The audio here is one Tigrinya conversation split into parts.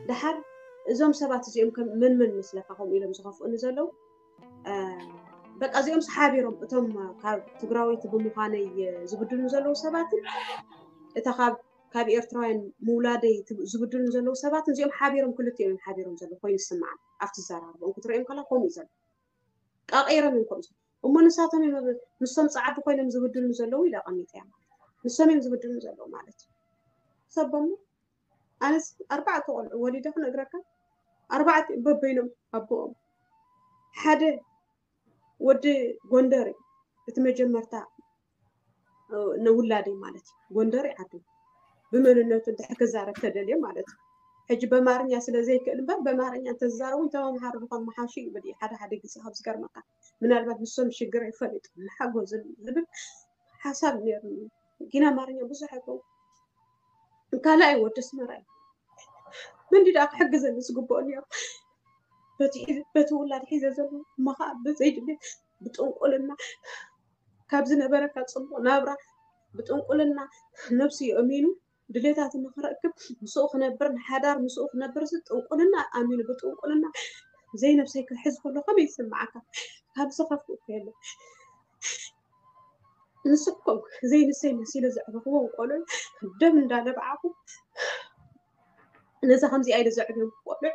ደሓር እዞም ሰባት እዚኦም ከም መን መን መስለካ ከምኡ ኢሎም ዝኸፍኡኒ ዘለዉ? በቃ እዚኦም ሓቢሮም እቶም ካብ ትግራወይቲ ብምዃነይ ዝብድሉ ዘለዉ ሰባትን እታ ካብ ካብ ኤርትራውያን ምውላደይ ዝብድሉ ዘለዉ ሰባትን እዚኦም ሓቢሮም ክልቲኦም እዮም ሓቢሮም ዘለዉ ኮይኑ ዝስምዓኒ። ኣብቲ ዘራርቦም ክትርእዮም ከላ ከምኡ እዩ ዘሎ። ቃቐይሮም እዮም ከምኡ እሞ ንሳቶም እዮም ምስቶም ፃዓዱ ኮይኖም ዝብድሉ ዘለዉ ኢለ ኣቐሚጠያ ማለት ንሶም እዮም ዝብድሉ ዘለዉ ማለት እዩ። ሰቦም ኣነስ ኣርባዕተ ቆልዑ ወሊደ ክነግረካ ኣርባዕተ በበይኖም ኣቦኦም ሓደ ወዲ ጎንደር እዩ እቲ መጀመርታ ንውላደይ ማለት እዩ ጎንደር ዓዱ ብመንነቱ እንድሕር ክዛረብ ተደልየ ማለት እዩ ሕጂ በማርኛ ስለ ዘይክእል እምበር በማርኛ እንተዝዛረቡ እንተመምሃሩ ዝኾን መሓሹ ይብል እዩ ሓደ ሓደ ግዜ ካብ ዝገርመካ ምናልባት ንሶም ሽግር ይፈሊጡ ንሓጎዝን ዝብል ሓሳብ ነይሩ ግን ኣማርኛ ብዙሕ ኣይከውን ካልኣይ ወዲ ኣስመራ እዩ መንዲ ደኣ ክሕግዘኒ ዝግብኦ ነይሩ በቲ ውላድ ሒዘ ዘሎ እሞ ከዓ ብዘይድልየት ብጥንቁልና ካብ ዝነበረካ ፅቡቕ ናብራ ብጥንቁልና ነብሱ የእሚኑ ድሌታቱ ንክረክብ ምስኡ ክነብር ንሓዳር ምስኡ ክነብር ጥንቁልና ኣሚኑ ብጥንቁልና ዘይነብሰይ ክሕዝ ከሎ ከመይ ይስምዓካ ካብዚ ከፍ እኮ የለን ንስኩም ዘይንሰይ መሲለ ዘዕበኽዎም ቆልዑ ደም እንዳነብዓኹ ነዛ ከምዚኣ ኢለ ዘዕብዮም ቆልዑ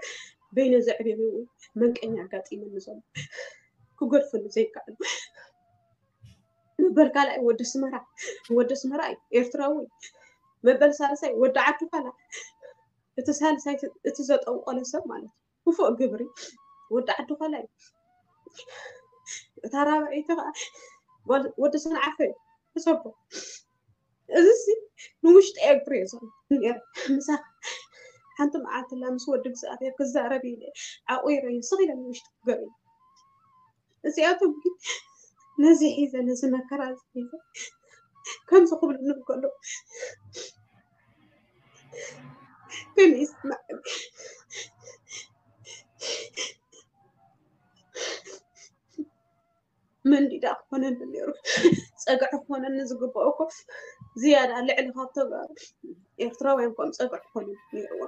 በይነ ዘዕብዮም መንቀኛ ኣጋጢመኒ ዘሎ ክገድፈሉ ዘይከኣሉ መበል ካልኣይ ወዲ ኣስመራ ወዲ ኣስመራ እዩ ኤርትራዊ መበል ሳልሳይ ወዲ ዓዲ ኳላ እቲ ሳልሳይ እቲ ዘጠንቆለ ሰብ ማለት እዩ ክፉእ ግብሪ ወዲ ዓዲ ኳላ እዩ እታ ራብዐይቲ ከዓ ወዲ ሰንዓፈ እዩ ተሰቦ እዚ ሲ ንውሽጢ እየ ክሪኦ ዘሎ ነረ ምሳኻ ሓንቲ መዓልትላ ምስ ወዲ እግዚኣብሔር ክዛረብ ኢለ ዓቑረዮ ስቕ ኢለ ንውሽጢ ክገርዩ እዚኣቶም ግን ነዚ ሒዘ ነዚ መከራ እዚ ሒዘ ከምዚ ክብሉ ንከሎ ከመይ ይስማዕ መንዲዳ ክኾነኒ ነይሩ ፀግዒ ክኾነኒ ዝግብኦ እኮ ዝያዳ ልዕሊ ካብ ተጋሩ ኤርትራውያን ከም ፀግዒ ክኾነኒ ነይርዎ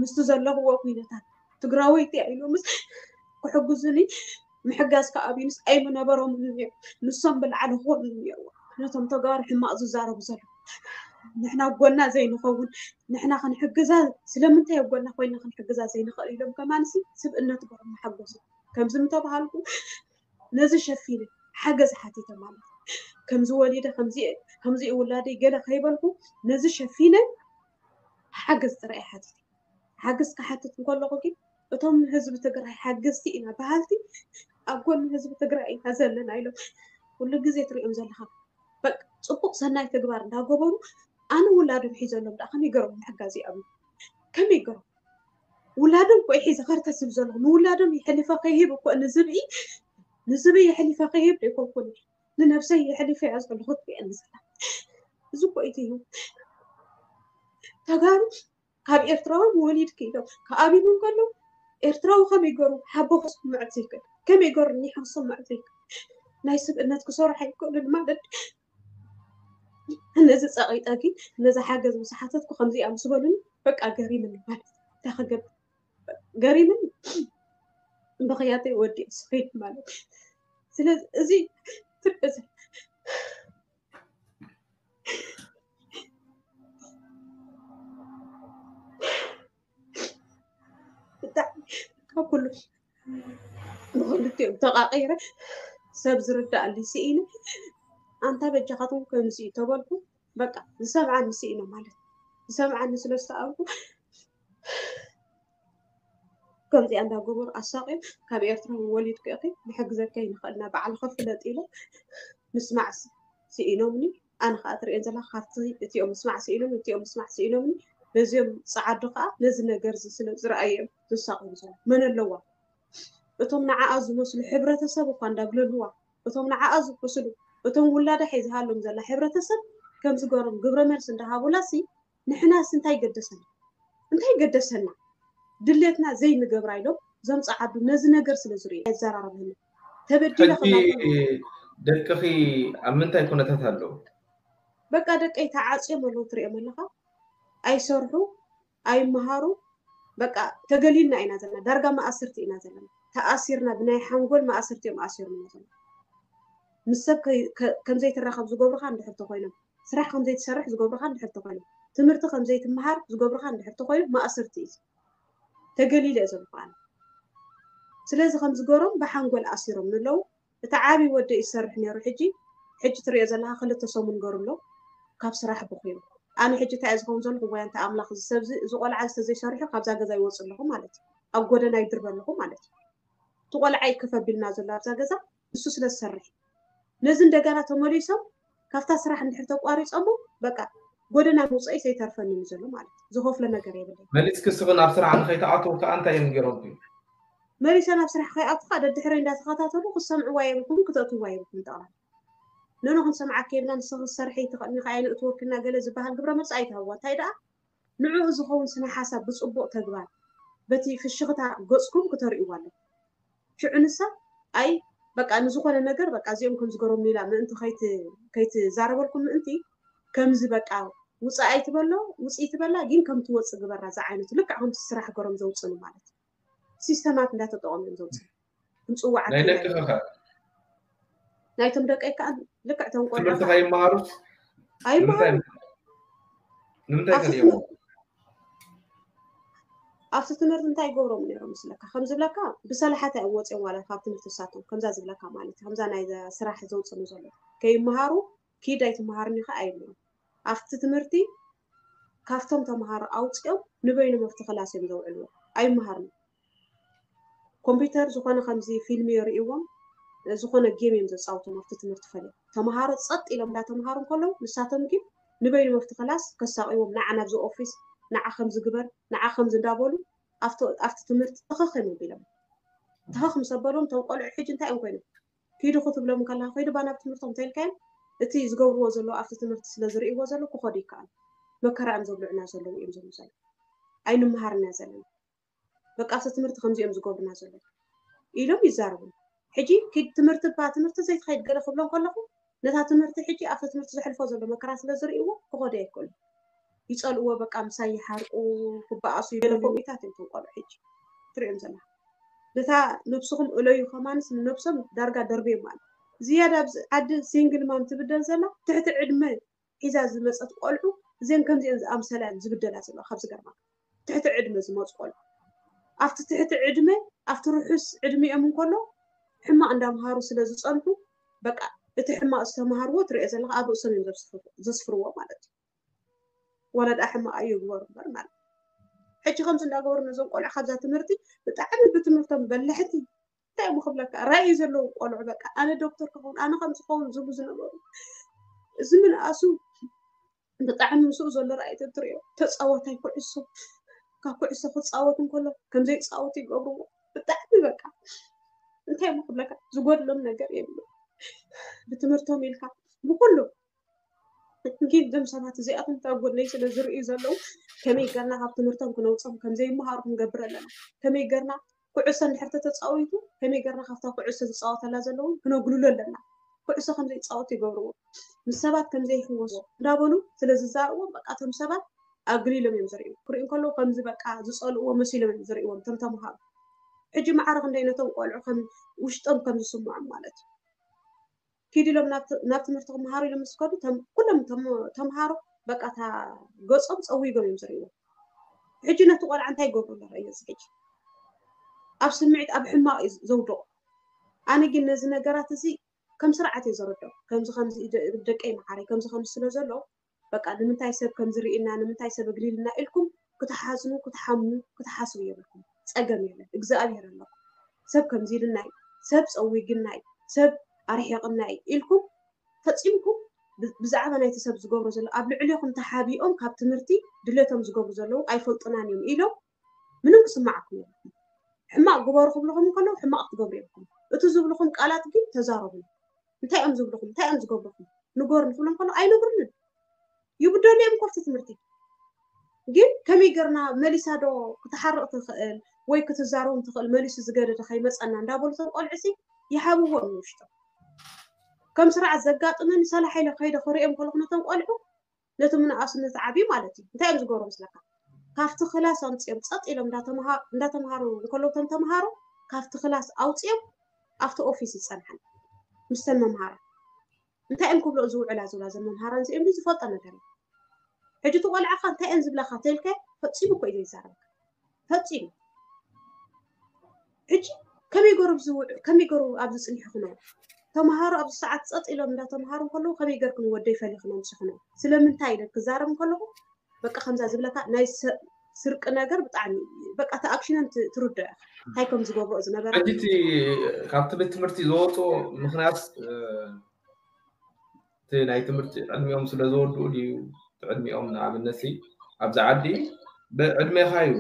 ምስቲ ዘለኽዎ ኩነታት ትግራወይቲ ኢሎምስ ክሕግዙኒ ምሕጋዝ ከኣብዩንስ ኣይምነበሮምን ነይሩ ንሶም ብላዕሊ ክኾኑ ነይርዎ ነቶም ተጋሩ ሕማቕ ዝዛረቡ ዘለዉ ንሕና ጎና ዘይንኸውን ንሕና ክንሕግዛ ስለምንታይ ኣብ ጎና ኮይና ክንሕግዛ ዘይንኽእል ኢሎም ከማንሲ ስብእነት ገሮም ሓጎሱ ከምዚ ምተባሃልኩ ነዚ ሸፊነ ሓገዝ ሓቲተ ማለት ከምዚ ወሊደ ከምዚ ውላደይ ገለ ከይበልኩ ነዚ ሸፊነ ሓገዝ ጥራይ ሓቲተ ሓገዝ ክሓትት እንከለኹ ግን እቶም ንህዝቢ ትግራይ ሓገዝቲ ኢና በሃልቲ ኣብ ጎኒ ህዝቢ ትግራይ ኢና ዘለና ኢሎም ኩሉ ግዜ ትሪኦም ዘለኻ በቃ ፅቡቅ ሰናይ ተግባር እንዳገበሩ ኣነ ውላዶም ሒዘሎም ደኣ ከመይ ገሮም ምሕጋዝ ይኣብዩ ከመይ ገሮም ውላዶም ኮ ሒዘ ከርተስብ ዘለኹ ንውላዶም የሕሊፈ ከይህብ እኮ ንዝብኢ ንዝብኢ የሕሊፈ ከይህብ ዶ ይኮንኩን ንነብሰይ የሕሊፈ እያ ዘለኹ ትሪአኒ ዘላ እዚ ኮ ኢትዩ ተጋሩ ካብ ኤርትራዊ ወሊድ ክኢሎም ክኣብዩን ከለዉ ኤርትራዊ ከመይ ገሩ ሓቦ ክስምዖ ዘይክእል ከመይ ገሩ ኒሖ ክስምዖ ዘይክእል ናይ ስብእነት ክሰርሑ ኣይክእሉን ማለት ነዚ ፀቒጠ ግን ነዚ ሓገዝ ምስ ሓተትኩ ከምዚኣ ምስ በሉኒ በቃ ገሪምኒ ማለት እንታይ ክገብር ገሪምኒ ብኽያተይ ወዲእ ስኺድ ማለት ስለዚ እዚ ትርእ ብጣዕሚ ካብ ኩሉ ብክልቲኦም ተቃቂረ ሰብ ዝርዳኣሊ ስኢነ ኣንታ በጃኻትኩም ከምዚ እዩ ተበልኩ በቃ ዝሰምዓኒ ስኢነ ማለት ዝሰምዓኒ ስለ ዝተኣልኩ ከምዚኣ እንዳገበሩ ኣሳቂም ካብ ኤርትራ ወሊድኪ ኢኺ ንሕግዘካ ይንኽእል ኢና ባዕልኺ ፍለጢ ኢሎም ምስማዕ ስኢኖምኒ ኣነ ከዓ ትርእየን ዘለኻ ካብቲ እቲኦም ምስማዕ ስኢኖም እቲኦም ምስማዕ ስኢኖምኒ ነዚኦም ፀዓዱ ከዓ ነዚ ነገር እዚ ስለ ዝረኣዮም ዝሳቀዩ ዘሎ መን ኣለዋ እቶም ንዓኣ ዝመስሉ ሕብረተሰብ እኳ እንዳግለልዋ እቶም ንዓኣ ዝመስሉ እቶም ውላዳ ሒዝሃሎም ዘላ ሕብረተሰብ ከምዝገሮም ግብረ መልሲ እንዳሃቡላ ሲ ንሕናስ እንታይ ገደሰና እንታይ ገደሰና ድሌትና ዘይንገብራ ኢሎም ዘምፅዓዱ ነዚ ነገር ስለ ዝርእዩ ኣይዘራረብን ተበዲለ ደቅኺ ኣብ ምንታይ ኩነታት ኣለዉ በቃ ደቀይ ተዓፅዮም ኣለዉ ትሪኦም ኣለኻ። ኣይሰርሑ ኣይመሃሩ። በቃ ተገሊልና ኢና ዘለና፣ ዳርጋ መኣስርቲ ኢና ዘለና። ተኣሲርና፣ ብናይ ሓንጎል መኣስርቲ እዮም ኣሲሮምና ዘለዉ። ምስ ሰብ ከምዘይትራኸብ ዝገብሩኻ እንድሕር ተኾይኖም፣ ስራሕ ከምዘይትሰርሕ ዝገብሩኻ እንድሕር ተኾይኖም፣ ትምህርቲ ከምዘይትመሃር ዝገብሩኻ እንድሕር ተኾይኖም መኣስርቲ እዩ። ተገሊለ እየ ዘለኹ ኣነ። ስለዚ ከምዚ ገሮም ብሓንጎል ኣሲሮም ንለዉ። እቲ ዓብዪ ወደይ ዝሰርሕ ነይሩ። ሕጂ ሕጂ ትሪኦ ዘለኻ ክልተ ሰሙን ገሩ ኣሎ ካብ ስራሕ ብኺሩ። ኣነ ሕጂ እንታይ እየ ዝኸውን ዘለኹ? ወይ ኣንታ ኣምላኽ፣ እዚ ሰብዚ፣ እዚ ቆልዓ ዝተዘይሰርሑ ካብዛ ገዛ ይወፁ ኣለኹ ማለት እዩ። ኣብ ጎደና ይድርበ ኣለኹ ማለት እዩ። እቲ ቆልዓ ይከፈ ቢልና ዘሎ ኣብዛ ገዛ ንሱ ስለ ዝሰርሕ። ነዚ እንደገና ተመሊሶም ካብታ ስራሕ እንድሕር ተቋሪፆሞ በቃ ጎደና ምውፀኢ ዘይተርፈኒ እዩ ዘሎ ማለት እዩ። ዝኸፍሎ ነገር የብለይ። መሊስኪ እስኺ ናብ ስራሕ ንኸይትኣትው ከዓ እንታይ እዮም ገይሮምኪ? መሊሰ ናብ ስራሕ ከይኣቱ ከዓ ደድሕረይ እንዳተኸታተሉ ክሰምዕዋ የብልኩም፣ ክተእትዋ የብልኩም። ጠቕላላ ንኖ ክንሰምዓካ የብልና፣ ንስኺ ክትሰርሒ ኣይትኽእልኒ፣ ከኣ ኣይንእትወክልና ገለ ዝበሃል ግብረ መልሲ ኣይትሃብዋ። እንታይ ደኣ ንዕኡ ዝኸውን ስነ ሓሳብ ብፅቡቕ ተግባር በቲ ፍሽኽታ ገፅኩም ክተርእይዋ ኣለኩም። ሽዑ ንሳ ኣይ በቃ ንዝኾነ ነገር በቃ እዚኦም ከም ዝገረሙ ኢላ ምእንቲ ከይትዛረበልኩም ምእንቲ ከምዚ በቃ ውፅእ ኣይትበሎ ውፅእ ትበላ ግን ከም ትወፅእ ግበራ ዝዓይነቱ ልክዕ ከምቲ ስራሕ ገሮም ዘውፅእሉ ማለት እዩ። ሲስተማት እንዳተጠቐሙ እዮም ዘውፅእ። ክንፅዋዓት ናይ ደቂ ከ ናይቶም ደቀይ ከዓ ልክዕ ተንቆልዑ ትምህርቲ ከይመሃሩስ ኣይመሃሩ። ንምንታይ ከ ኣብቲ ትምህርቲ እንታይ ይገብሮም ነይሮም ምስለካ ከም ዝብለካ ብሰላሓት እዮም ወፅኦም ዋላ ካብ ትምህርቲ ሳቶም ከምዛ ዝብለካ ማለት ከምዛ ናይ ስራሕ ዘውፅኑ ዘሎ ከይመሃሩ ኪድ ኣይትመሃርኒ ከዓ ኣይብሎም። ኣብቲ ትምህርቲ ካብቶም ተምሃሮ ኣውፅኦም ንበይኖም ኣብቲ ክላስ እዮም ዘውዕልዎ። ኣይመሃርኒ ኮምፒውተር ዝኾነ ከምዚ ፊልም የርእዎም ዝኾነ ጌም እዮም ዘፃውቶም ኣብቲ ትምህርቲ ፈለ ተምሃሮ ፀጥ ኢሎም እንዳተምሃሩ እንከለዉ ንሳቶም ግን ንበይኖም ኣብቲ ክላስ ከሳቂዎም ንዓ ናብዚ ኦፊስ ንዓ ከምዚ ግበር ንዓ ከምዚ እንዳበሉ ኣብቲ ትምህርቲ ተኸኸ መቢሎም ተኸኽ ምስ ኣበሎም እቶም ቆልዑ ሕጂ እንታይ እዮም ኮይኖም ኪዱ ክትብሎም ከለካ ኮይዱ ባናብ ትምህርቶም ተልካዮም እቲ ዝገብርዎ ዘለዉ ኣብቲ ትምህርቲ ስለ ዝርእይዎ ዘለዉ ክኸዱ ይከኣሉ መከራ እዮም ዘብልዑና ዘለዉ እዮም ዝብሉ ዘለዉ ኣይንመሃርና ዘለና በቃ ኣብቲ ትምህርቲ ከምዚኦም ዝገብሩና ዘለዉ ኢሎም ይዛረቡ ሕጂ ኪድ ትምህርቲ ባ ትምህርቲ ዘይትኸይድ ገለ ክብሎም ከለኹ ነታ ትምህርቲ ሕጂ ኣብቲ ትምህርቲ ዘሕልፎ ዘሎ መከራ ስለ ዝርእይዎ ክኸዱ ኣይክእሉ ይፀልእዎ በቃ ምሳይ ይሓርቁ ክበኣሱ ይበለ ከምኢታት እዮም ተንቆሉ ሕጂ ትሪኦም ዘላ ነታ ነብስኹም እለዩ ከማንስ ንነብሶም ዳርጋ ደርብዮም ማለት ዝያዳ ኣብዚ ዓዲ ሲንግል ማም ትብደል ዘላ ትሕቲ ዕድመ ሒዛ ዝመፀት ቆልዑ እዘን ከምዚአን ዝኣምሰላ ዝብደላ ዘለዋ ካብ ዝገርማ ትሕቲ ዕድመ ዝመፁ ቆልዑ ኣብቲ ትሕቲ ዕድመ ኣብቲ ርሑስ ዕድሚኦም እንከሎ ሕማቕ እንዳምሃሩ ስለ ዝፀንሑ በቃ እቲ ሕማቕ ዝተምሃርዎ ትሪኦ ዘለካ ኣብ ርእሶም እዮም ዘስፍርዎ ማለት እዩ ወላ ደኣ ሕማቕ እዩ ግበሩ እምበር ማለት ሕጂ ከምዚ እንዳገበሩ ነዞም ቆልዑ ካብዛ ትምህርቲ ብጣዕሚ ብትምህርቶም በላሕቲ እንታይ እሞ ክብለካ ራእይ ዘለዎም ቆልዑ በቃ ኣነ ዶክተር ክኸውን ኣነ ከም ዝኸውን ዝብሉ ዝነበሩ እዚ ምንኣሱ ብጣዕሚ ምስኡ ዘሎ ራእይ ተትሪኦ ተፃዋታይ ኩዕሶ ካብ ኩዕሶ ክፃወት እንከሎ ከምዘይፃወት ይገብርዎ ብጣዕሚ በቃ እንታይ እሞ ክብለካ ዝጎድሎም ነገር የብሉ ብትምህርቶም ኢልካ ብኩሉ ግን እዞም ሰባት እዚኣቶም እታ ጎነይ ስለ ዝርእዩ ዘለዉ ከመይ ገርና ካብ ትምህርቶም ክነውፅኦም ከምዘይመሃሩ ክንገብር ኣለና ከመይ ገርና ኩዕሶ እንድሕር ተተፃዊቱ ከመይ ገርና ካብታ ኩዕሶ ዝፃወተላ ዘለዉ ክነጉልሎ ኣለና ኩዕሶ ከምዘይፃወቱ ይገብርዎ ምስ ሰባት ከምዘይህወሱ እንዳበሉ ስለ ዝዛረብዎም በቃ እቶም ሰባት ኣግሊሎም እዮም ዝርእዩ ክርእዩ ከለዉ ከምዚ በቃ ዝፀልእዎ መሲሎም እዮም ዝርእዎም እቶም ተምሃሮ ሕጂ ማዕረ ክንደይ ነቶም ቆልዑ ከም ውሽጦም ከም ዝስምዖም ማለት እዩ ኪድ ኢሎም ናብ ትምህርቲ ክመሃሩ ኢሎም ምስ ከዱ ኩሎም ተምሃሮ በቃ እታ ገፆም ፀዊጎም እዮም ዝርእይዎ ሕጂ ነቲ ቆልዓ እንታይ ይገብሩ ኣለካ እዩ እዚ ሕጂ ኣብ ስምዒት ኣብ ሕማቕ እዩ ዘውድቑ ኣነ ግን ነዚ ነገራት እዚ ከም ስርዓት እየ ዘረድኦ ከምዚ ከምዚ ደቀይ መዓረይ ከምዚ ከምዚ ስለ ዘሎ በቃ ንምንታይ ሰብ ከምዚ ርኢና ንምንታይ ሰብ ኣግሊልና ኢልኩም ክትሓዝኑ ክትሓምኑ ክትሓስቡ የብልኩም ፀገም የለን እግዚኣብሔር ኣለኩም ሰብ ከምዚ ኢልናይ ሰብ ፀዊግናይ ሰብ ኣርሒቕናይ ኢልኩም ፈፂምኩም ብዛዕባ ናይቲ ሰብ ዝገብሮ ዘሎ ኣብ ልዕሌኹም ተሓቢኦም ካብ ትምህርቲ ድሌቶም ዝገብሩ ዘለዉ ኣይፈልጡናን እዮም ኢሎም ምንም ክስማዓኩም የብልኩም ሕማቕ ግበሩ ክብልኹም ከለዉ ሕማቕ ክትገብሩ የብልኩም እቲ ዝብልኹም ቃላት ግን ተዛረቡ እንታይ እዮም ዝብልኹም እንታይ እዮም ዝገብሩኹም ንገሩን ክብሎም ከሎ ኣይነግሩንን ይብደሉ እዮም ኮፍቲ ትምህርቲ ግን ከመይ ገርና መሊሳ ዶ ክትሓርቕ ትኽእል ወይ ክትዛረቦም ትኽእል መሊሱ ዝገደደ ከይመፀና እንዳበሉ ቶም ቆልዕሲ ይሃብዎም ንውሽጦም ከም ስርዓት ዘጋጥመኒ ሰላሕ ኢለ ከይደ ክሪኦም ከለኹ ነቶም ቆልዑ ነቲ ምንኣሱ ነቲ ዓብዩ ማለት እዩ እንታይ እዮም ዝገብሩ መስለካ? ካብቲ ክላስ ኣምፅኦም ፀጥ ኢሎም እንዳተምሃሩ እንከለዉ እቶም ተምሃሮ ካብቲ ክላስ ኣውፅኦም ኣብቲ ኦፊስ ይፀንሓን ምስተን መምሃራ እንታይ እዮም ክብሎ ዝውዕላ ዝብላ ዘን መምሃራን እዚኦም ዝፈልጦ ነገር እዩ። ሕጂ እቲ ቆልዓኻ እንታይ እየን ዝብላካ ተልከ ፈፂሙ እኮ እዩ ዘይዛረብካ ፈፂሙ። ሕጂ ከመይ ገሩ ዝውዕ ከመይ ገሩ ኣብዚ ፅኒሑ ክነብር ተምሃሮ ኣብዚ ሰዓት ፀጥ ኢሎም እንዳተምሃሩ እንከለዉ ከመይ ገርክን ወደይ ፈሊኽኖም ስኽኖም ስለምንታይ ኢለ ክዛረብ እንከለኹ በቃ ከምዛ ዝብለካ ናይ ስርቂ ነገር ብጣዕሚ በቃ እቲ ኣክሽነን ትርዶ ኢኻ እንታይ ከም ዝገብሮ ዝነበረ ሕጂ እቲ ካብቲ ቤት ትምህርቲ ዝወፅኦ ምክንያት እቲ ናይ ትምህርቲ ዕድሚኦም ስለ ዘወድኡ ድዩ ዕድሚኦም ንኣብነት ኣብዚ ዓዲ ብዕድሜኻ እዩ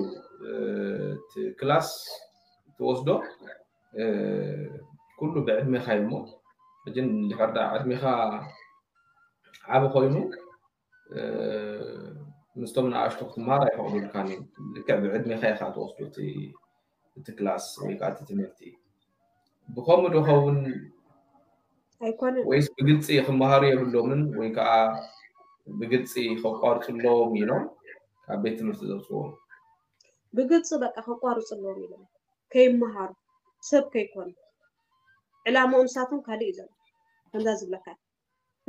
እቲ ክላስ ትወስዶ ኩሉ ብዕድሜኻ እዩ እሞ ሕጂ እንድሕር ዳ ዕድሜኻ ዓቢ ኮይኑ ምስቶም ንኣሽቱ ክትመሃር ኣይፈቕዱልካን እዩ ልክዕ ብዕድሜኻ ኢኻ ትወስዶ እቲ ክላስ ወይ ከዓ እቲ ትምህርቲ ብኸምኡ ዶ ኸውን ኣይኮነን ወይስ ብግልፂ ክመሃሩ የብሎምን ወይ ከዓ ብግልፂ ከቋርፅሎም ኢሎም ካብ ቤት ትምህርቲ ዘውፅዎም ብግልፂ በቃ ከቋርፅሎም ኢሎም ከይመሃሩ ሰብ ከይኮኑ ዕላምኦም ንሳቶም ካልእ እዩ ዘሎ ከምዛ ዝብለካ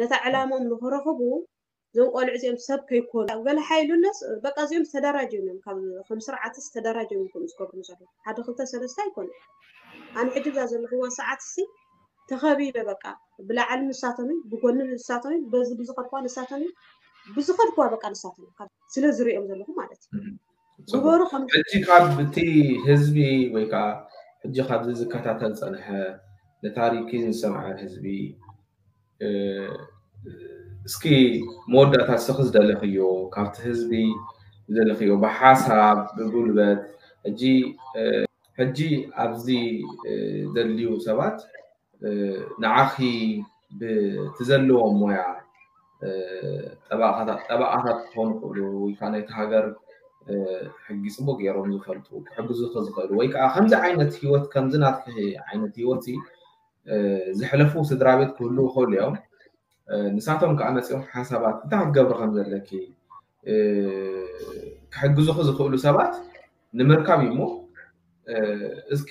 ነታ ዕላምኦም ንክረኽቡ እዞም ቆልዑ እዚኦም ሰብ ከይኮኑ ገለ ሓይሉለስ በቃ እዚኦም ተደራጅዮም እዮም ካብ ከም ስርዓትስ ተደራጅዮም እዮም ከምኡ ዝገብሩ ዘለዉ ሓደ ክልተ ሰለስተ ኣይኮኑ ኣነ ሕጂ ብዛ ዘለኽዋ ሰዓት ሲ ተኸቢበ በቃ ብላዕሊ ንሳቶም እዩ ብጎኒ ንሳቶም እዩ በዚ ብዝኸድኳ ንሳቶም እዩ ብዝኸድኳ በቃ ንሳቶም እዩ ስለ ዝሪኦም ዘለኹ ማለት እዩ ግበሩ ከም ሕጂ ካብ እቲ ህዝቢ ወይ ከዓ ሕጂ ካብዚ ዝከታተል ፀንሐ ንታሪኪ ዝሰምዐ ህዝቢ እስኪ መወዳእታ እስኺ ዝደለኽዮ ካብቲ ህዝቢ ዝደለኽዮ ብሓሳብ ብጉልበት ሕጂ ሕጂ ኣብዚ ዘድልዩ ሰባት ንዓኺ ብቲ ዘለዎም ሞያ ጠበቓታት ክኾኑ ክእሉ ወይ ከዓ ናይቲ ሃገር ሕጊ ፅቡቅ ገይሮም ዝፈልጡ ክሕግዙ ዝኽእሉ ወይ ከዓ ከምዚ ዓይነት ህይወት ከምዚ ናትኪ ዓይነት ህይወት ዝሕለፉ ስድራ ቤት ክህልዉ ይኽእሉ እዮም። ንሳቶም ከዓ መፂኦም ሓሳባት እንታይ ክትገብሪ ከም ዘለኪ ክሕግዙኺ ዝኽእሉ ሰባት ንምርካብ እዩ እሞ እስኪ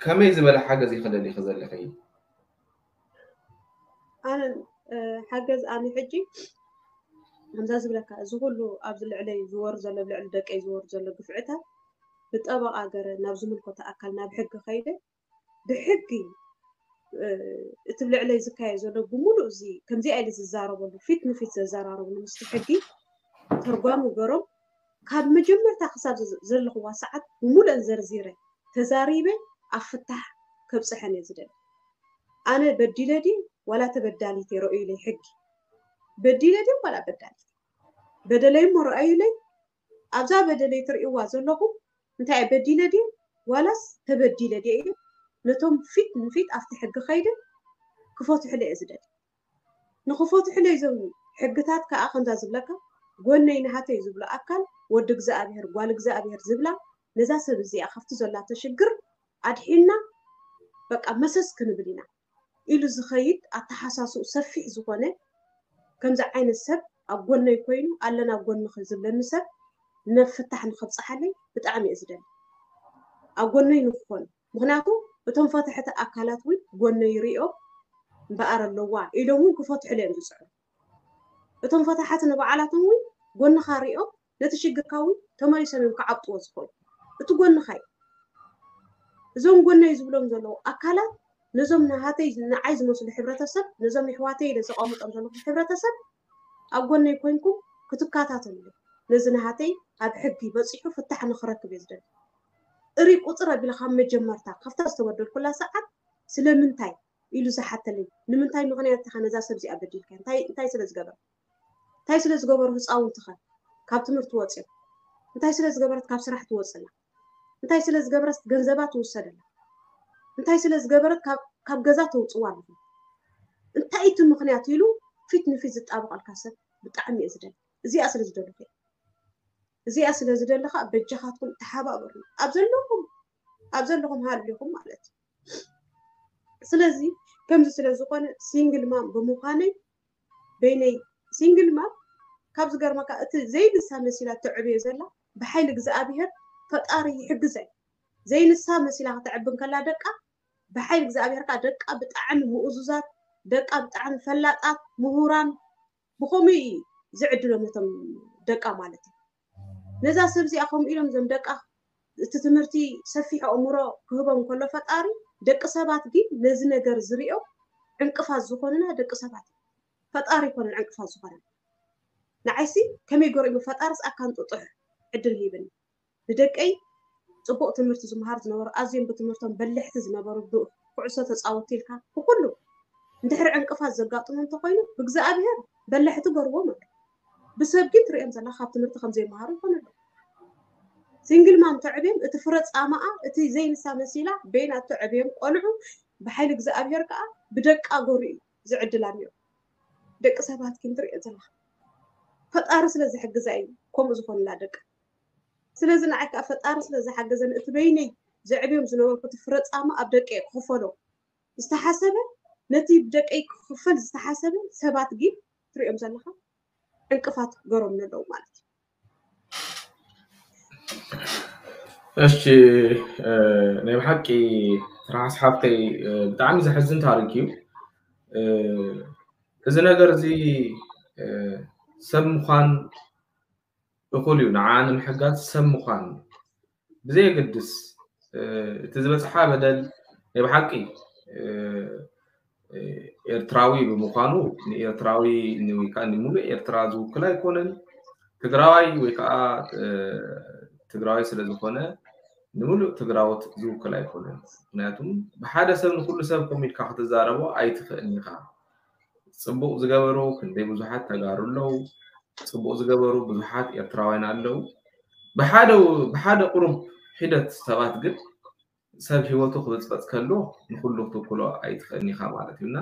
ከመይ ዝበለ ሓገዝ ኢኺ ደሊኺ ዘለኺ? ኣነ ሓገዝ ኣነ ሕጂ ከምዛ ዝብለካ እዚ ኩሉ ኣብዚ ልዕለይ ዝወር ዘሎ ልዕሊ ደቀይ ዝወር ዘሎ ግፍዕታት ብጠበቓ ገረ ናብ ዝምልከቶ ኣካል ናብ ሕጊ ከይደ ብሕጊ እቲ ልዕለይ ዝካየ ዘሎ ብምሉእ እዚ ከምዚኣ ኢለ ዝዛረበሉ ፊት ንፊት ዘዘራረብሉ ምስቲ ሕጊ ተርጓሚ ገሮም ካብ መጀመርታ ክሳብ ዘለኽዋ ሰዓት ብምሉእን ዘርዚረ ተዛሪበ ኣብ ፍታሕ ከብፅሐን እየ ዝደሊ ኣነ በዲለ ድየ ዋላ ተበዳሊት እየ ረእዩለይ ሕጊ በዲለ ድየ ዋላ በዳሊት በደለይ እሞ ረኣዩለይ ኣብዛ በደለይ ትርእይዋ ዘለኹም እንታይ እየ በዲለ ድየ ዋላስ ተበዲለ ድየ ኢለ ነቶም ፊት ንፊት ኣብቲ ሕጊ ከይደ ክፈትሑለይ እየ ዝደሊ ንኽፈትሑለይ እዞም ሕግታት ከዓ ከምዛ ዝብለካ ጎነይ ናሃተይ ዝብሎ ኣካል ወዲ እግዚኣብሔር ጓል እግዚኣብሔር ዝብላ ነዛ ሰብ እዚኣ ካብቲ ዘላቶ ሽግር ኣድሒና በቃ መሰስ ክንብል ኢና ኢሉ ዝኸይድ ኣተሓሳስኡ ሰፊሕ ዝኾነ ከምዚ ዓይነት ሰብ ኣብ ጎነይ ኮይኑ ኣለና ኣብ ጎንኺ ዝብለኒ ሰብ ናብ ፍታሕ ንኸብፅሓለይ ብጣዕሚ እየ ዝደሊ ኣብ ጎነይ ንክኾኑ ምኽንያቱ እቶም ፈተሕቲ ኣካላት እውን ጎነይ ሪኦም እምበኣር ኣለዋ ኢሎም እውን ክፈትሑለይ እዮም ዝፅዕሩ እቶም ፈታሓቲ ንባዕላቶም እውን ጎንኻ ሪኦም ነቲ ሽግርካ እውን ተመሊሶም እዮም ክዓብጥዎ ዝኽእሉ እቲ ጎንኻ እዩ እዞም ጎነይ ዝብሎም ዘለዉ ኣካላት ነዞም ናሃተይ ንዓይ ዝመስሉ ሕብረተሰብ ነዞም የሕዋተይ ኢለ ዘቐምጦም ዘለኹ ሕብረተሰብ ኣብ ጎነይ ኮይንኩም ክትከታተሉ ነዚ ናሃተይ ኣብ ሕጊ በፂሑ ፍታሕ ንክረክብ እየ ዝደሊ እሪ ቁፅር ኣቢለ ካብ መጀመርታ ካብታ ዝተበደልኩላ ሰዓት ስለምንታይ ኢሉ ዝሓተለይ ንምንታይ ምኽንያት ኢኻ ነዛ ሰብ እዚኣ በዲልካ እንታይ ስለ ዝገበረ እንታይ ስለ ዝገበሩ ህፃውንትኸ ካብ ትምህርቲ ወፅዮም እንታይ ስለ ዝገበረት ካብ ስራሕ ትወፅና እንታይ ስለ ዝገበረት ገንዘባ ትውሰደላ እንታይ ስለ ዝገበረት ካብ ገዛ ተውፅዋ ኣለኹም እንታይ እቲ ምኽንያት ኢሉ ፊት ንፊት ዝጣበቐልካ ሰብ ብጣዕሚ እየ ዝደሊ እዚኣ ስለ ዝደለኹ እዚኣ ስለ ዝደለኻ በጃኻትኩም ተሓባበሩ ኣብ ዘለኹም ኣብ ዘለኹም ሃልኹም ማለት እዩ ስለዚ ከምዚ ስለ ዝኾነ ሲንግል ማም ብምዃነይ በይነይ ሲንግል ማም ካብ ዝገርመካ እቲ ዘይንሳ መሲላ ተዕብዮ ዘላ ብሓይሊ እግዚኣብሔር ፈጣሪ ይሕግዘ። ዘይንሳ መሲላ ከተዕቢ እንከላ ደቃ ብሓይሊ እግዚኣብሔር ከዓ ደቃ ብጣዕሚ ምኡዙዛት፣ ደቃ ብጣዕሚ ፈላጣት፣ ምሁራን፣ ብኸምኡ እዩ ዝዕድሎም ነቶም ደቃ ማለት እዩ። ነዛ ሰብ እዚኣ ከምኡ ኢሎም እዞም ደቃ እቲ ትምህርቲ ሰፊሕ ኣእምሮ ክህቦም ከሎ ፈጣሪ ደቂ ሰባት ግን ነዚ ነገር ዝሪኦ ዕንቅፋት ዝኾኑና ደቂ ሰባት እዮም። ፈጣሪ ይኮነን ዕንቅፋት ዝኾነ። ንዓይሲ ከመይ ገሩ እዩ ፈጣርስ ኣካን ጥጡሕ ዕድል ሂብኒ። ንደቀይ ጽቡቕ ትምህርቲ ዝመሃር ዝነበሩ ኣዝዮም ብትምህርቶም በልሕቲ ዝነበሩ ብ- ኩዕሶ ተጻወቲ ኢልካ ብኩሉ እንድሕሪ ዕንቅፋት ዘጋጥሞ እንተኮይኑ ብእግዚኣብሔር በልሕቲ ገርዎም ኣሎ። ብሰብ ግን ትሪኦም ዘላ ካብ ትምህርቲ ከም ዘይመሃሩ ይኮነ ኣሎ። ሲንግል ማም ተዕብዮም እቲ ፍረ ጻማኣ እቲ ዘይንሳ መሲላ በይና ተዕብዮም ቆልዑ ብሓይሊ እግዚኣብሔር ከዓ ብደቃ ገሩ እዩ ዝዕድላ እኒኦ። ደቂ ሰባት ግን ትሪኦ ዘላ ፈጣሪ ስለ ዝሕግዛ እዩ ከምኡ ዝኾንላ ደቂ ስለዚ ንዓይ ከዓ ፈጣሪ ስለ ዝሓገዘን እቲ በይነይ ዘዕብዮም ዝነበርኩ እቲ ፍረ ጻማ ኣብ ደቀይ ክኽፈሎ ዝተሓሰበ ነቲ ብደቀይ ክኽፈል ዝተሓሰበ ሰባት ግን ትሪኦም ዘለኻ ዕንቅፋት ገሮም ኣለዉ ማለት እዩ። እሺ ናይ ብሓቂ ትርሓስ ሓፍተይ ብጣዕሚ ዘሕዝን ታሪክ እዩ። እዚ ነገር እዚ ሰብ ምዃን እኹል እዩ። ንዓ ንምሕጋዝ ሰብ ምዃን ብዘየገድስ እቲ ዝበፅሓ በደል ናይ ብሓቂ ኤርትራዊ ብምዃኑ ንኤርትራዊ ወይ ከዓ ንሙሉእ ኤርትራ ዝውክል ኣይኮነን። ትግራዋይ ወይ ከዓ ትግራዋይ ስለ ዝኾነ ንሙሉእ ትግራዎት ዝውክል ኣይኮነን። ምክንያቱም ብሓደ ሰብ ንኩሉ ሰብ ከምኡ ኢልካ ክትዛረቦ ኣይትኽእልን ኢኻ። ፅቡቕ ዝገበሩ ክንደይ ብዙሓት ተጋሩ ኣለዉ። ፅቡቕ ዝገበሩ ብዙሓት ኤርትራውያን ኣለዉ። ብሓደ ብሓደ ቁሩብ ሒደት ሰባት ግን ሰብ ሂወቱ ክብፅበፅ ከሎ ንኩሉ ክትውክሎ ኣይትኽእልን ኢኻ ማለት እዩ። እና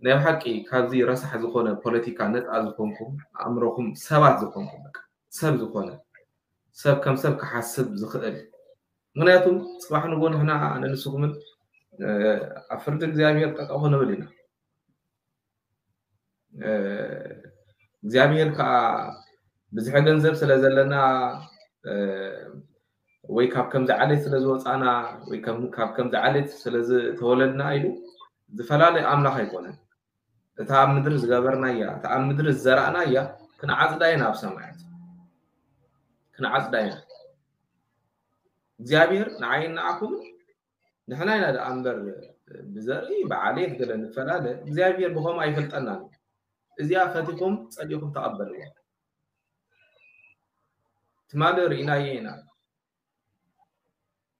ናይ ብሓቂ ካብዚ ረሳሕ ዝኾነ ፖለቲካ ነፃ ዝኾንኩም ኣእምሮኹም ሰባት ዝኾንኩም በቃ ሰብ ዝኾነ ሰብ ከም ሰብ ክሓስብ ዝኽእል ምክንያቱም ፅባሕ ንጎ ንሕና ነንስኹምን ኣብ ፍርዲ እግዚኣብሔር ጠጠው ክንብል ኢና። እግዚኣብሔር ከዓ ብዝሒ ገንዘብ ስለ ዘለና ወይ ካብ ከምዚ ዓሌት ስለ ዝወፃና ወይ ካብ ከምዚ ዓሌት ስለ ዝተወለድና ኢሉ ዝፈላለ ኣምላኽ ኣይኮነን። እታ ኣብ ምድሪ ዝገበርናያ እታ ኣብ ምድሪ ዝዘራእናያ ክንዓፅዳ ኢና ኣብ ሰማያት ክንዓፅዳ ኢና። እግዚኣብሔር ንዓይን ንዓኹምን ንሕና ኢና ደኣ እምበር ብዘርኢ ብዓሌት ገለ ንፈላለ እግዚኣብሔር ብኸምኡ ኣይፈልጠናን እዩ። እዚኣ ፈቲኹም ጸሊእኹም ተቐበልዋ። ትማሊ ርኢናዮ ኢና።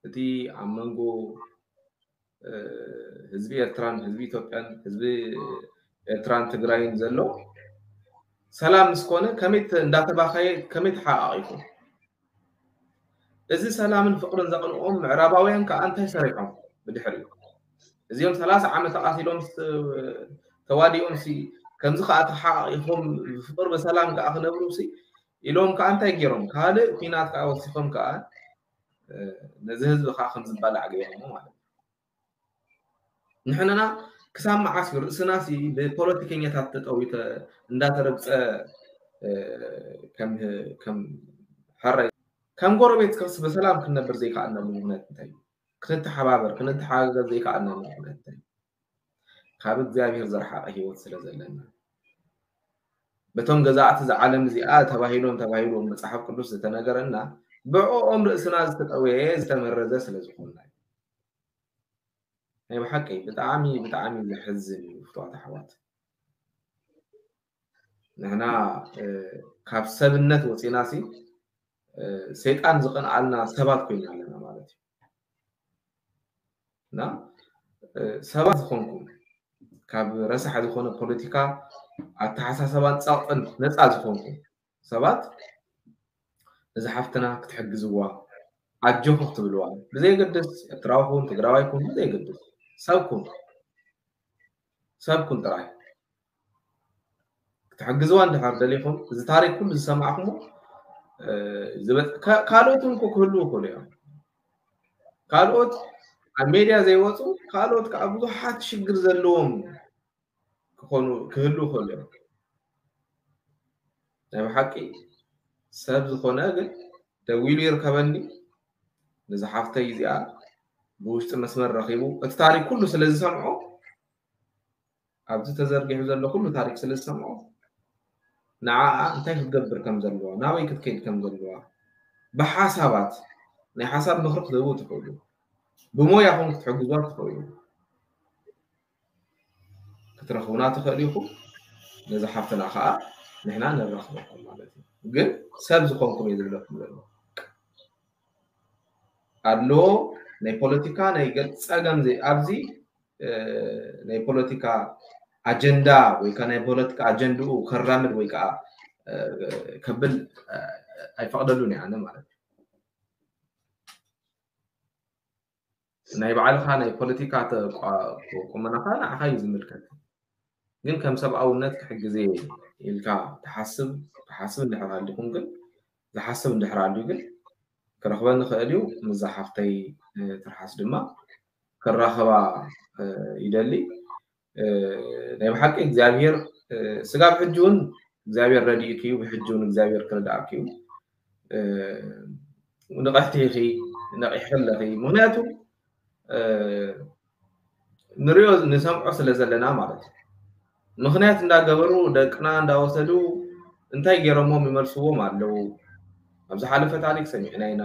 እቲ ኣብ መንጎ ህዝቢ ኤርትራን ህዝቢ ኢትዮጵያን ህዝቢ ኤርትራን ትግራይን ዘሎ ሰላም ምስኮነ ከመይ እንዳተባኸየ ከመይ ተሓቃቂፉ እዚ ሰላምን ፍቅርን ዘቅንኦም ምዕራባውያን ከዓ እንታይ ሰሪሖም ብድሕሪኡ እዚኦም ሰላሳ ዓመት ተቃቲሎም ተዋዲኦም ሲ ከምዚ ከዓ ተሓቃቂፎም ብፍቅር ብሰላም ከዓ ክነብሩ ሲ ኢሎም ከዓ እንታይ ገይሮም ካልእ ኩናት ከዓ ወሲኾም ከዓ ነዚ ህዝቢ ከዓ ከም ዝባላዕ ገይሮሞ ማለት እዩ። ንሕንና ክሳብ መዓስ እዩ ርእስና ሲ ብፖለቲከኛታት ተጠዊተ እንዳተረግፀ ከም ሕራይ ከም ጎረቤት ከስ ብሰላም ክንነብር ዘይከኣልናሉ ምክንያት እንታይ እዩ? ክንተሓባበር ክንተሓጋገዝ ዘይከኣልናሉ ምክንያት እንታይ እዩ? ካብ እግዚኣብሔር ዝረሓቐ ህይወት ስለ ዘለና በቶም ገዛእቲ ዝዓለም እዚኣ ተባሂሎም ተባሂሉ መፅሓፍ ቅዱስ ዝተነገረና ብዕኦም ርእስና ዝተጠወየ ዝተመረዘ ስለ ዝኾንና እዩ። ናይ ብሓቂ ብጣዕሚ ብጣዕሚ ዘሕዝን እዩ ፍትዋት ኣሕዋት። ንሕና ካብ ሰብነት ወፂና ሲ ሰይጣን ዝቐንኣልና ሰባት ኮይና ኣለና ማለት እዩ። እና ሰባት ዝኾንኩም ካብ ረሳሕ ዝኾነ ፖለቲካ ኣተሓሳሰባን ፃቕጥን ነፃ ዝኾንኩም ሰባት እዚ ሓፍትና ክትሕግዝዋ ኣጆኹ ክትብልዋ ብዘይገድስ ኤርትራዊ ኩን ትግራዋይ ኩን ብዘይገድስ ሰብ ኩን ሰብ ኩን ጥራይ ክትሕግዝዋ እንድሕር ደሊኹም እዚ ታሪክ ኩሉ ዝሰማዕኩሞ ካልኦት እውን ክህልዉ ይኽእሉ እዮም። ካልኦት ኣብ ሜድያ ዘይወፁ ካልኦት ከዓ ብዙሓት ሽግር ዘለዎም ክኾኑ ክህሉ ይኽእሉ እዮም። ናይ ብሓቂ ሰብ ዝኾነ ግን ደዊሉ ይርከበኒ። ነዚ ሓፍተይ እዚኣ ብውሽጢ መስመር ረኺቡ እቲ ታሪክ ኩሉ ስለ ዝሰምዖ ኣብዚ ተዘርጊሑ ዘሎ ኩሉ ታሪክ ስለ ዝሰምዖ ንዓኣ እንታይ ክትገብር ከም ዘለዋ ናበይ ክትከይድ ከም ዘለዋ ብሓሳባት ናይ ሓሳብ ምኽሪ ክትህቡ ትኽእሉ። ብሞያኹም ክትሕግዙዋ ትኽእሉ። ክትረኽቡና ትኽእሉ ኢኹም። ነዚ ሓፍትና ከዓ ንሕና ንራኽበኩም ማለት እዩ። ግን ሰብ ዝኾንኩም እየ ዝብለኩም ዘሎ። ኣድልዎ ናይ ፖለቲካ ናይ ገ- ፀገም ዘይ ኣብዚ ናይ ፖለቲካ ኣጀንዳ ወይ ከዓ ናይ ፖለቲካ ኣጀንድኡ ከራምድ ወይ ከዓ ከብል ኣይፈቅደሉን እየ ኣነ ማለት እዩ። ናይ ባዕልኻ ናይ ፖለቲካ ቁመናኻ ንዓኻ እዩ ዝምልከት። ግን ከም ሰብኣውነት ክሕግዝ ኢልካ ትሓስብ ትሓስብ እንድሕር ሃሊኹም ግን ዝሓስብ እንድሕር ኣልዩ ግን ክረኽበኒ ክእል እዩ። ምዛ ሓፍተይ ትርሓስ ድማ ክራኸባ ይደሊ። ናይ ብሓቂ እግዚኣብሔር ስጋብ ሕጂ እውን እግዚኣብሔር ረድእክ እዩ። ብሕጂ እውን እግዚኣብሔር ክረድኣክ እዩ። ንቕሕቲ ኢኺ፣ ነቒሕኺ ኣለኺ። ምኽንያቱ ንሪኦ ንሰምዖ ስለ ዘለና ማለት እዩ። ምኽንያት እንዳገበሩ ደቅና እንዳወሰዱ እንታይ ገይሮሞም ይመልስዎም ኣለዉ። ኣብ ዝሓለፈ ታሪክ ሰሚዕና ኢና።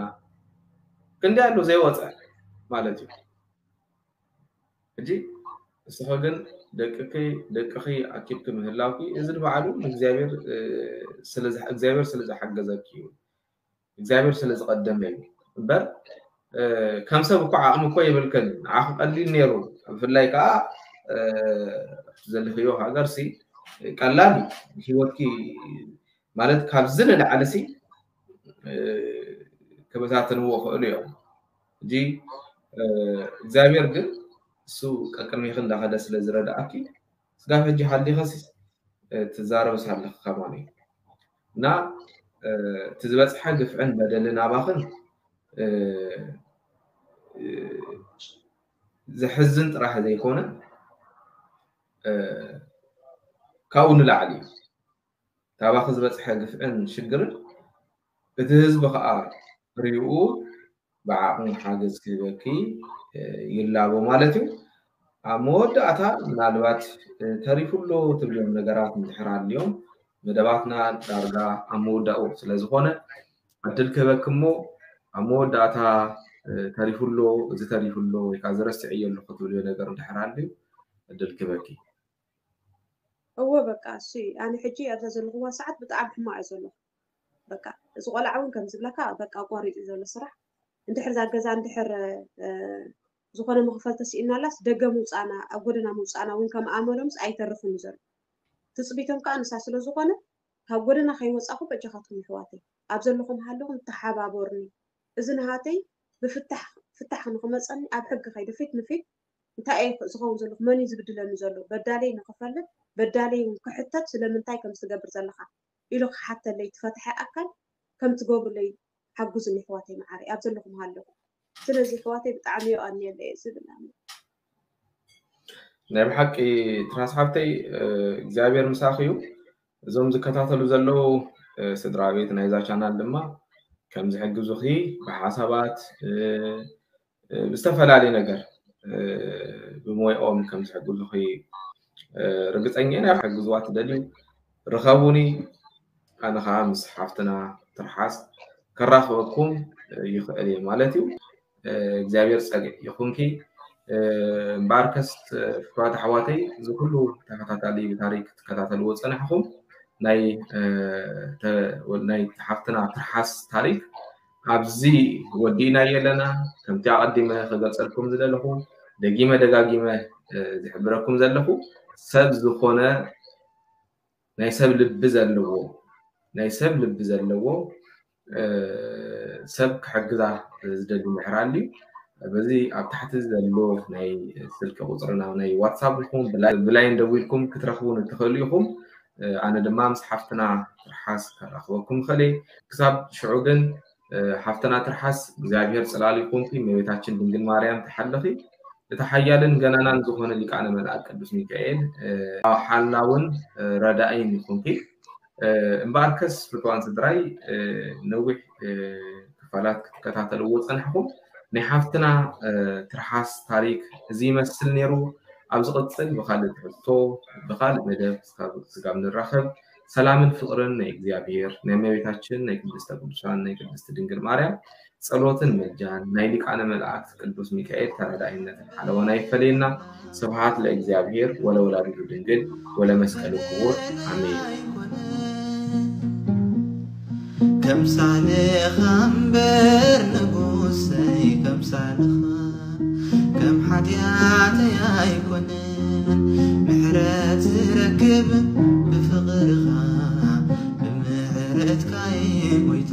ክንዲ ኣሎ ዘይወፀ ማለት እዩ። ሕጂ እስኸ ግን ደቅኪ ደቅኺ ኣኪብኪ ምህላውኪ እዚ ንባዕሉ ንእግዚኣብሔር ስለ ዝሓ- እግዚኣብሔር ስለ ዝሓገዘኪ እዩ። እግዚኣብሔር ስለ ዝቐደመ እዩ እምበር ከም ሰብ እኮ ዓቕሚ እኮ የብልክን። ንዓኺ ቀሊል ነይሩ። ብፍላይ ከዓ ዘለኽዮ ሃገር ሲ ቀላል እዩ። ሂወትኪ ማለት ካብዚ ንላዕሊ ሲ ክበታተንዎ ይኽእሉ እዮም። ሕጂ እግዚኣብሔር ግን እሱ ቀቅድሜኺ እንዳኸደ ስለ ዝረድኣኪ ስጋብ ሕጂ ሃሊኸሲ ትዛረብስ ኣለኺ ከማን እዩ እና እቲ ዝበፅሐ ግፍዕን በደልን ኣባኽን ዘሕዝን ጥራሕ ዘይኮነ ካብኡ ንላዕሊ እዩ። ታባኺ ዝበፅሐ ግፍዕን ሽግርን እቲ ህዝቢ ከዓ ሪኡ ብዓቕሙ ሓገዝ ክህበኪ ይላቦ ማለት እዩ። ኣብ መወዳእታ ምናልባት ተሪፉ ኣሎ ትብልዮም ነገራት እንድሕር ኣልዮም መደባትና ዳርጋ ኣብ መወዳኡ ስለ ዝኾነ ዕድል ክህበኪ እሞ ኣብ መወዳእታ ተሪፉ ኣሎ እዚ ተሪፉ ኣሎ ወይ ከዓ ዝረስዕዮ ኣለኹ ትብልዮ ነገር እንድሕር ኣልዩ ዕድል ክህበኪ። እወ በቃ እሱ እዩ። ኣነ ሕጂ ኣብዛ ዘለኹዋ ሰዓት ብጣዕሚ ሕማቕ እየ ዘለኹ። በቃ እዚ ቆልዓ እውን ከም ዝብለካ በቃ ኣቋሪፁ እዩ ዘሎ ስራሕ። እንድሕር እዛ ገዛ እንድሕር ዝኾነ መኽፈል ተስኢናላስ ደገ ምውፃእና ኣብ ጎደና ምውፃእና እውን ከም ኣመሎምስ ኣይተርፍን እዩ ዘሎ። ትፅቢቶም ከዓ ንሳ ስለ ዝኾነ ካብ ጎደና ከይወፃኹ በጃኻትኩም ይሕዋተይ ኣብ ዘለኹም ሃለኹም ተሓባበሩኒ። እዚ ናሃተይ ብፍታሕ ፍታሕ ንክመፀኒ ኣብ ሕጊ ከይደ ፊት ንፊት እንታይ እየ ዝኸውን ዘለኹ መን እዩ ዝብድለኒ ዘሎ በዳለይ ንክፈልጥ በዳለይ እውን ክሕተት ስለምንታይ ከም ዝትገብር ዘለኻ ኢሉ ክሓተለይ ትፈትሐ ኣካል ከም ትገብሩለይ ሓጉዝኒ ኣሕዋተይ መዓረይ ኣብ ዘለኹም ሃለኹ ስለዚ ኣሕዋተይ ብጣዕሚ የቐንየለይ እየ ዝብል ኣነ ናይ ብሓቂ ትራስ ሓፍተይ እግዚኣብሔር ምሳኺ እዩ እዞም ዝከታተሉ ዘለዉ ስድራ ቤት ናይዛ ቻናል ድማ ከም ዝሕግዙኺ ብሓሳባት ብዝተፈላለየ ነገር ብሞይኦም ከም ዝሕግዙኺ ርግፀኛ ኢና ሕግዝዋ ትደልዩ ርኸቡኒ ኣነ ከዓ ምስ ሓፍትና ትርሓስ ከራኽበኩም ይኽእል እየ ማለት እዩ እግዚኣብሔር ፀግዕ ይኹንኪ እምበኣርከስ ፍትዋት ኣሕዋተይ እዚ ኩሉ ተኸታታሊ ብታሪክ ትከታተልዎ ፀናሕኹም ናይ ናይ ሓፍትና ትርሓስ ታሪክ ኣብዚ ወዲእናዮ ኣለና ከምቲ ኣቐዲመ ክገልፀልኩም ዝደለኹ ደጊመ ደጋጊመ ዝሕብረኩም ዘለኹ ሰብ ዝኾነ ናይ ሰብ ልቢ ዘለዎ ናይ ሰብ ልቢ ዘለዎ ሰብ ክሕግዛ ዝደሊ ምሕራል እዩ በዚ ኣብ ታሕቲ ዘሎ ናይ ስልኪ ቁፅርና ናይ ዋትሳፕ ይኹን ብላይን ደዊልኩም ክትረኽቡን እትኽእሉ ኢኹም ኣነ ድማ ምስ ሓፍትና ትርሓስ ከራኽበኩም ይኽእል ክሳብ ሽዑ ግን ሓፍትና ትርሓስ እግዚኣብሔር ጽላል ይኹንኪ፣ እመቤታችን ድንግል ማርያም ትሓልኺ። እቲ ሓያልን ገናናን ዝኾነ ሊቃነ መልኣክ ቅዱስ ሚካኤል ሓላውን ረዳእይን ይኹንኪ። እምበኣርከስ ፍትዋን ስድራይ፣ ነዊሕ ክፋላት ክትከታተልዎ ጸናሕኩም። ናይ ሓፍትና ትርሓስ ታሪክ እዚ ይመስል ነይሩ። ኣብ ዝቕጽል ብኻልእ ትሕዝቶ ብኻልእ መደብ ስጋብ ንራኸብ፣ ሰላምን ፍቕርን ናይ እግዚኣብሔር ናይ እመቤታችን ናይ ቅድስተ ቅዱሳን ናይ ቅድስቲ ድንግል ማርያም ጸሎትን ምልጃን ናይ ሊቃነ መላእክት ቅዱስ ሚካኤል ተራዳኢነትን ሓለዋን ኣይፈለየና። ስብሐት ለእግዚኣብሔር ወለወላዲቱ ድንግል ወለመስቀሉ ክቡር። ኣሜን። ከምሳሌኻ እምበር ንጉሰይ ከምሳሌኻ ከም ሓጢኣተይ ኣይኮነን ምሕረት ዝረክብ ብፍቕርኻ ብምሕረትካ ሞይታ